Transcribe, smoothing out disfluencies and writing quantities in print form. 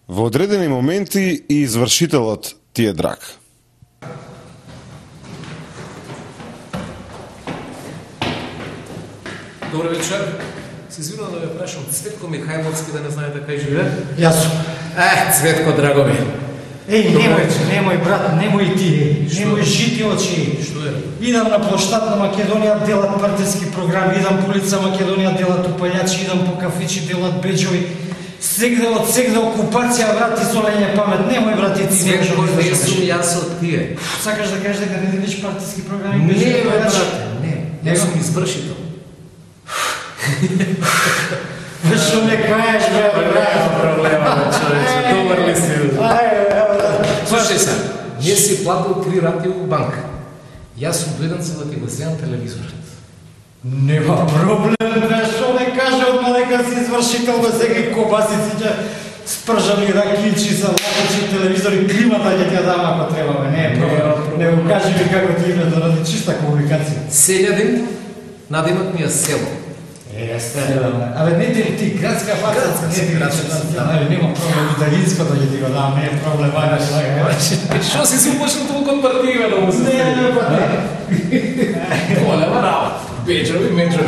Во одредени моменти и извршителот ти е драг. Добро вечер. Се извинувам да ве прашам, Цветко Михајловски да не знаете кај живее? Јас сум. Цветко, драго ми. Немој брат, немој ти, немој жити очи. Што е? Идам на площад на Македонија, делат партиски програми, идам по улица Македонија, делат упалјачи, идам по кафичи, делат беџови. Сегде окупација, брат, и солење памет. Немој, брат, и ти. Цветко, не сум јас од тие. Сакаш да кажеш дека не делиш партиски програми? Не, брат, не сум извршител. Што не кажеш, брат? Проблема, човече, добар ли си? Слушај се, не си платил 3 рати во банка. Јас сум дојден за да ти го земам телевизорот. Нема проблем, бе, што не каже одма дека си извршител, бе, сега кобасици, спржани ракичи, салатичи, телевизори, климата ќе ти ја дам ако треба, бе, не е проблем. Не го кажи ми како ти име, да ради чиста комуникација. Селјадин, надимак ми е село. Абе, не ти ти градска фаца, не ти градска фаца, нема проблем, италинско да ќе ти го дам, не е проблем, ајде. Што си се почнал толку партија да му се? Не, Голема работа. Беџови, меџови.